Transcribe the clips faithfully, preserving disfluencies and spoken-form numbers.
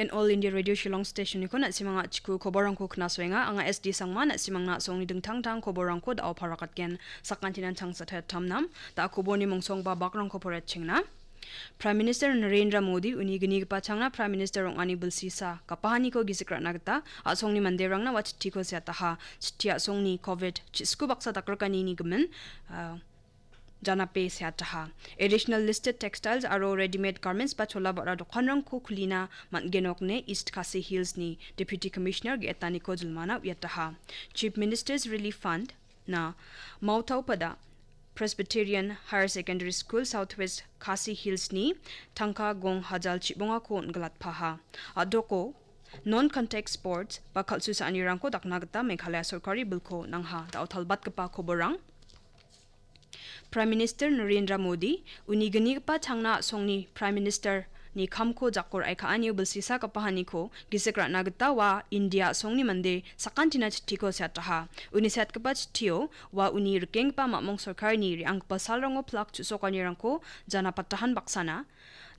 En All India Radio Shillong Station-niko na·simang a·chiko koborrangko knasoenga. Anga S D Sangma, na·simangna a·songni dingtang-tang koborrangko da·o parakatgen. Sakantinan changsa tayattam nam, da·a koborni mongsongba bakrangko poretchengna. Prime Minister Narendra Modi uni gnigipa changna Prime Minister ong·ani bilsisa gapahaniko gisik ra·na gita a·songni manderangna ua chittiko seataha. Chitti a·songni covid chisku baksa dakrikanini gimin, ah, janape seataha. Additional listed textiles aro ready-made garments ba chola ba·ra dokanrangko kulina man·genok ine East Khasi Hills-ni Deputy Commissioner ge·etaniko jilmana uiataha. Chief Minister's Relief Fund na Mautaupada Presbyterian Higher Secondary School, Southwest Khasi Hills-ni tangka gong hajal chibongako on·gilatpaha. A·doko non-contact sports ba kal·susaanirangko dakna gita Meghalaya sorkari bilko nangha. Da·o talbatgipa koborrang. Prime Minister Narendra Modi uni gnigipa changna a·songni Prime Minister-ni kamko jako ra·e ka·anio bilsisa gapahaniko gisik ra·na gita ua India a·songni mande sakantina chittiko seataha. Uni seatgipa chittio ua uni rikenggipa mamong sorkarini re·anggipa salrango plak chu·sokanirangko janapatahan baksana,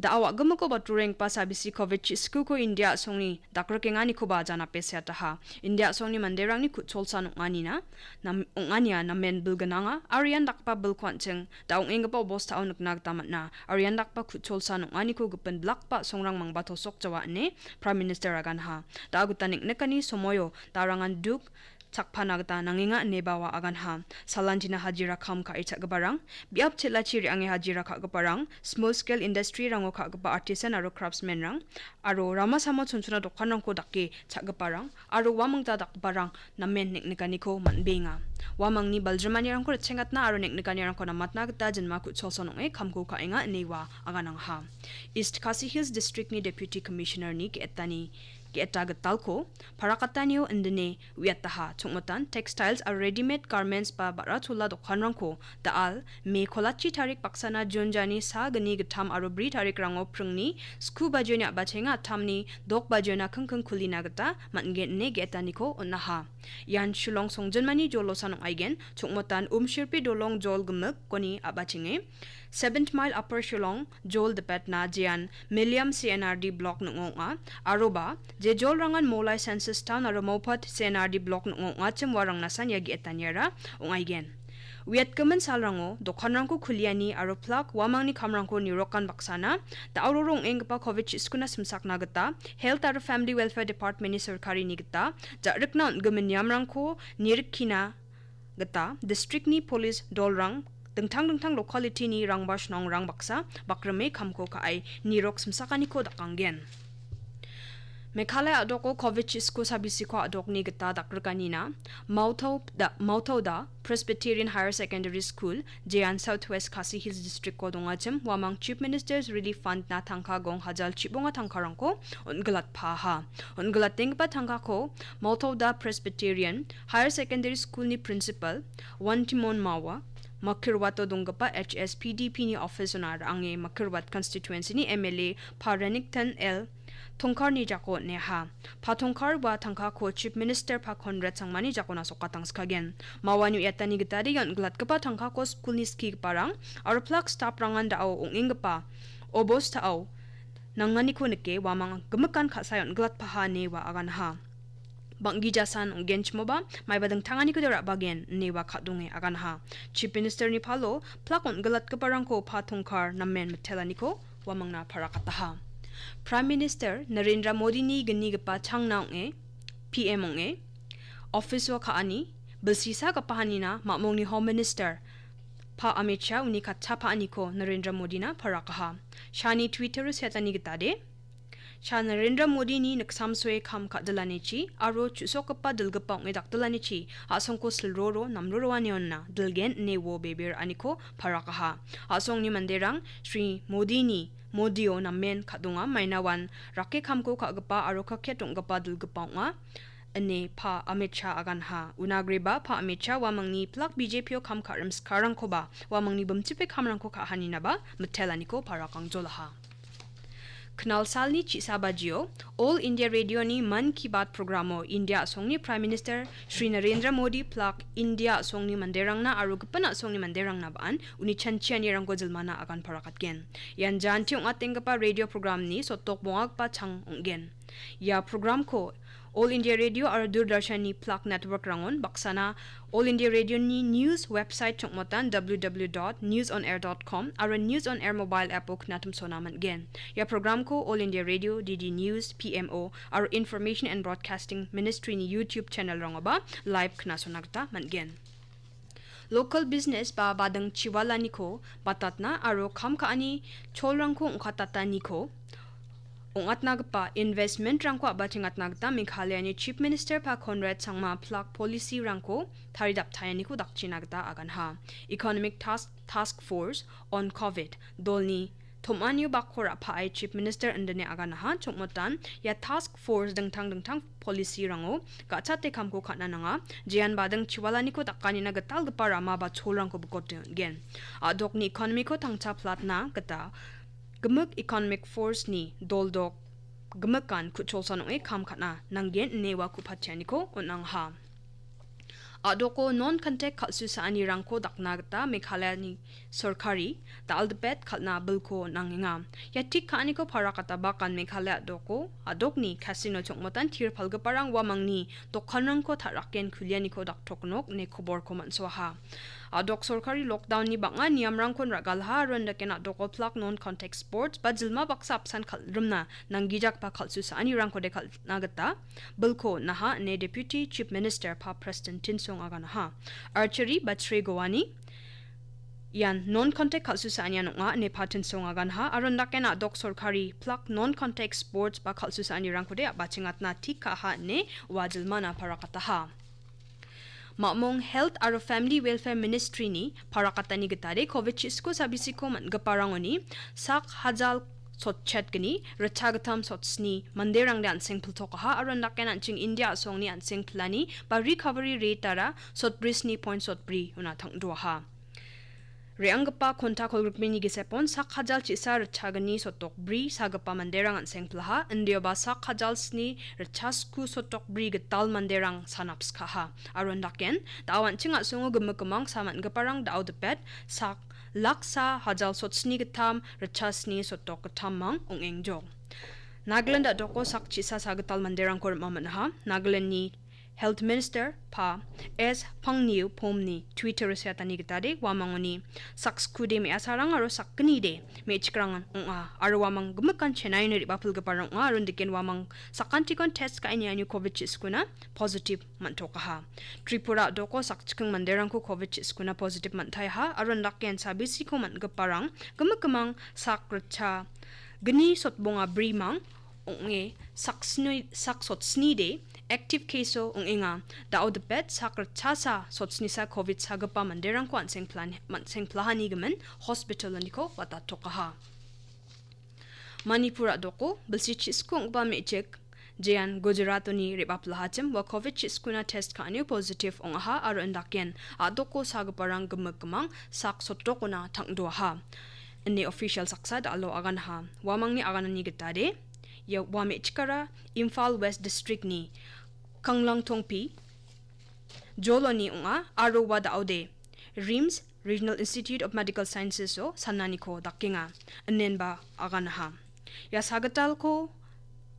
da·a wa·gimiko baturenggipa sabisi covid chiskuko India a·songni dakrikenganikoba janape seataha. India a·songni manderangni kutsolsa nong·anina, nam-, ong·ania namen bilgnanga, aro ian dakgipa bilko an·ching da ong·enggipa obostao nikna gita man·a. Aro ian dakgipa kutsolsa nong·aniko gipin blakba a·songrang mangba tosok jawa ine Prime Minister aganha. Da·a gita neng·nikani somoio darangan duk chakpana gita nangenga ineba ua aganha. Salantina hajira kam ka·e cha·giparang, biap chel·achi re·ange hajira ka·giparang, small scale industry-rango ka·gipa artisan aro craftsman-rang, aro rama samo chonchona dokanrangko dake cha·giparang, aro uamangta dakgiparang namen neng·nikaniko man·benga. Uamangni baljimanirangko ritchengatna aro neng·nikanirangko namatna gita jinma ku·cholson ong·e kamko ka·enga ine ua aganangha. East Khasi Hills District-ni Deputy Commissioner-ni ge·etani ge·eta gitalko parakatanio indine uiataha. Chongmotan textiles aro ready-made garments ba ba·ra chola dokanrangko da·al Me kolachi tarik baksana Jun jani sa gni gittam aro bri tarikrango pringni sku bajioni a·bachenga attamni dok bajiona kingking kulina gita man·gen ine ge·etaniko on·aha. Ian Shillong songjinmani jolosan ong·aigen. Chongmotan Umshirpi dolong jol gimikoni a·bachenge Seventh Mile Upper Shillong jol dipetna jean Milliam C N R D block ning·o ong·a. Aroba, je jolrangan Molai Census Town aro Mopat C N R D block ning·o ong·achim uarangnasan ia ge·etaniara ong·aigen. Uiatgimin salrango dokanrangko kuliani aro plak uamangni kamrangko nirokan baksana, da·o roro ong·enggipa covid chiskuna simsakna gita Health aro Family Welfare Department-ni sorkarini gita ja·rikna on·gimin niamrangko nirikkina gita district-ni police dolrang dingtang dingtang locality-ni rangbas nongrang baksa bakrime kamko ka·e nirok simsakaniko dakanggen. Meghalaya a·doko covid chisku sabisiko a·dokni gita dakrikanina Mautau da, Mautauda Presbyterian Higher Secondary School, jean Southwest Khasi Hills District-ko dongachim uamang Chief Minister's Relief Fund-na tangka gong hajal chibonga tangkarangko on·gilatpaha. On·gilatenggipa tangkako Mautauda Presbyterian Higher Secondary School-ni principal Wantimon Mawa, Makirwato donggipa H S P D P-ni office-ona ra·ange Makirwat constituency-ni M L A Pa Renikton L Tongkarni jako on·eha. Pa Tongkar ua tangkako Chief Minister Pa Conrad Sangmani jakona sokatangskagen. Mawani uiatani gitade ia on·gilatgipa tangkako skulni skigiparang aro plak staprangan da·o ong·enggipa obostao nanganiko nike uamang gimikan ka·sae on·gilatpaha ine ua aganha. Bang·gijasan ong·genchimoba maiba dingtanganiko de ra·bagen ine ua ka·donge aganha. Chief Minister-ni palo plak on·gilatgiparangko Pa Tongkar namen mitelaniko uamangna parakataha. Prime Minister Narendra Modi-ni gnigipa changna ong·e, P M ong·e, office-o ka·ani, bilsisa gapahanina mamongni Home Minister Pa Amit Shah uni katchapaaniko Narendra Modina parakaha. Shah-ni Twitter-o seatani gitade, Shah Narendra Modini niksamsoe kam ka·dilanichi aro chu·sokgipa dilgipa ong·e dakdilanichi a·songko silroro namroroanionna dilgen ine uo bebe ra·aniko parakaha. A·songni manderang Shri Modini Modio namen ka·donga, mainawan rake kamko ka·gipa aro kaket ong·gipa dilgipa ong·a ine Pa Amit Shah aganha. Unagreba Pa Amit Shah uamangni plak B J P-o kam ka·rim sikarangkoba uamangni bimchipe kamrangko ka·haninaba mitelaniko parakangjolaha. Knalsalni chi·sa bajio All India Radio-ni Mann Ki Baat programo India a·songni Prime Minister Shri Narendra Modi plak India a·songni manderangna aro gipin a·songni manderangna ba·an uni chanchianirangko jilmana agan parakatgen. Ian janti ong·atenggipa radio programni sotok bongagipa chang ong·gen. Ia programko All India Radio aro Doordarshanni plak network-rangon baksana All India Radio-ni news website chongmotan w w w dot news on air dot com aro News on Air mobile app-o knatimsona man·gen. Ia programko All India Radio, D D News, P M O aro Information and Broadcasting Ministry-ni YouTube channel-rangoba live knasona gita man·gen. Local business ba bading chiwalaniko batatna aro kam ka·ani cholrangko ong·katataniko ong·atnagipa investment-rangko a·bachengatna gita Meghalayani Chief Minister pa Conrad Sangma plak policy-rangko taridaptaeniko dakchina gita aganha. Economic Task, Task Force on COVID dolni tom·anio bakko ra·pae Chief Minister indine aganaha. Chongmotan ia task force dingtang dingtang policy-rango ga·chate kamko ka·na nanga. Jean bading chiwalaniko dakanina gitalgipa rama ba cholrangko bikote on·gen. A·dokni economy-ko tangcha platna gita gimik economic force-ni doldok gimikan ku·cholsan ong·e kam ka·na nanggen ine ua ku·patianiko on·angaha. A·doko non-contact kal·susaanirangko dakna gita Meghalayani sorkari dal·dipet kal·na bilko on·angenga. Ia tik ka·aniko parakataba kan Meghalaya a·doko, a·dokni casino chongmotan tir palgiparang uamangni dokanrangko ta·raken kulianiko daktok nok ine koborko man·soaha. A·dok sorkari lockdown-ni bang·a niamrangkon ra·galha aro indake na·doko plak non-contact sports ba jilma baksa apsan kal-, rimna nanggijakba kal·susaanirangkode kal-, na gita bilko on·aha ine Deputy Chief Minister pa Prestone Tynsong aganaha. Archery ba tre goani ian non-contact kal·susaanian ong·a ine pa Tynsong aganaha aro indake na·dok sorkari plak non-contact sports ba kal·susaanirangkode a·bachengatna tik ka·aha ine ua jilmana parakataha. Ma·mong Health aro Family Welfare Ministry-ni parakatani gitade covid chi·sku sabisiko man·giparangoni sak hajal sotchetgni ritchagittam sotsni manderangde an·seng piltokaha aro indake an·ching India a·songni an·seng pilani ba recovery rate-ara sotbri sni point sotbri ona tang·doaha. Re·anggipa konta kolgrikmini gisepon sak hajal chi·sa ritchagni sotokbri sagipa manderang an·seng pilaha, indioba sak hajal sni ritchasku sotokbri gital manderang sanapskaha. Aro indaken, da·o an·ching a·songo gimik gimang sa man·giparang da·o dipet sak laksa hajal sotsni gittam ritchasni sotok gittammang ong·engjok. Nagaland a·doko sak chi·sa sagital manderangko rim·a man·aha. Nagalandni Health Minister pa S Pangniu Pomni Twitter-o seatani gitade uamangoni sak skude me·asarang aro sak gnide me·chikrang ong·a aro uamang gimikan Chennai-oni re·bapilgiparang ong·a aro indiken uamang sakantikon test ka·e niani covid chi·skuna positive man·tokaha. Tripura a·doko sakchiking manderangko covid chi·skuna positive man·taiaha aro indaken sabisiko man·giparang gimik gimang sak ritcha gni sotbonga brimang ong·e sak sni-, sak sotsnide active case-o ong·enga. Da·o dipet sak ritchasa sotsnisa covid sagipa manderangko an·seng plan-, man-, seng plahani gimin hospital-oniko watatokaha. Manipur a·doko bilsi chi·sku ong·gipa me·chik jean Gujarat-oni re·baplahachim ua covid chi·skuna test ka·anio positive ong·aha aro indaken a·doko sagiparang gimik gimang sak sotokona tang·doaha. Ine official saksa da·alo aganaha. Uamangni aganani gitade, ia ua me·chikara Imphal West District-ni Kanglangtongpi joloni ong·a aro ua da·ode RIMS, Regional Institute of Medical Sciences-o sananiko dakenga, inenba aganaha. Ia sagitalko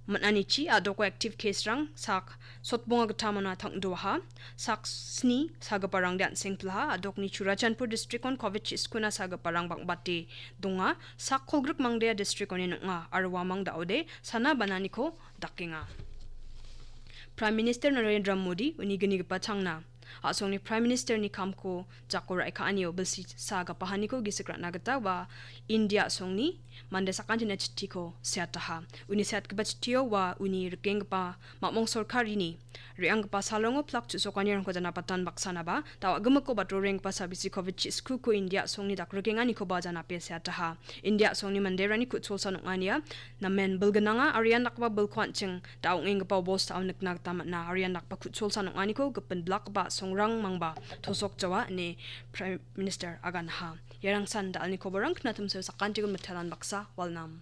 man·anichi a·doko active case-rang sak sotbonga gittamona tang·doaha, sak sni sagiparangde an·seng pilaha, a·dokni Churachandpur district-on covid chi·skuna sagiparang bang·bate donga, sak kolgrik mangdea district-oni nong·a, aro uamang da·ode sana bananiko dakenga. Prime Minister Narendra Modi uni gnigipa changna a·songni Prime Minister-ni kamko jako ra·e ka·anio bilsi sa gapahaniko gisik ra·na gita ua India a·songni mande sakantina chitiko seataha. Uni seatgipa chitio ua uni rikenggipa mamong sorkarini re·anggipa salongo plak chu·sokanirangko janapatan baksanaba, da·o a·gimiko batrorenggipa sabisi covid chi·skuko India a·songni dakrikenganikoba janape seataha. India a·songni manderangni ku·cholsa nong·ania namen bilgnanga aro ian dakgipa bilko an·ching da ong·enggipa obostao nikna gita man·a. Aro ian dakgipa ku·cholsa nong·aniko gipin bilakgipa a·songrang mangba tosok jawa ine Prime Minister aganaha. Iarangsan da·alni koborang knatimsio sakantikon mitelan baksa walnam.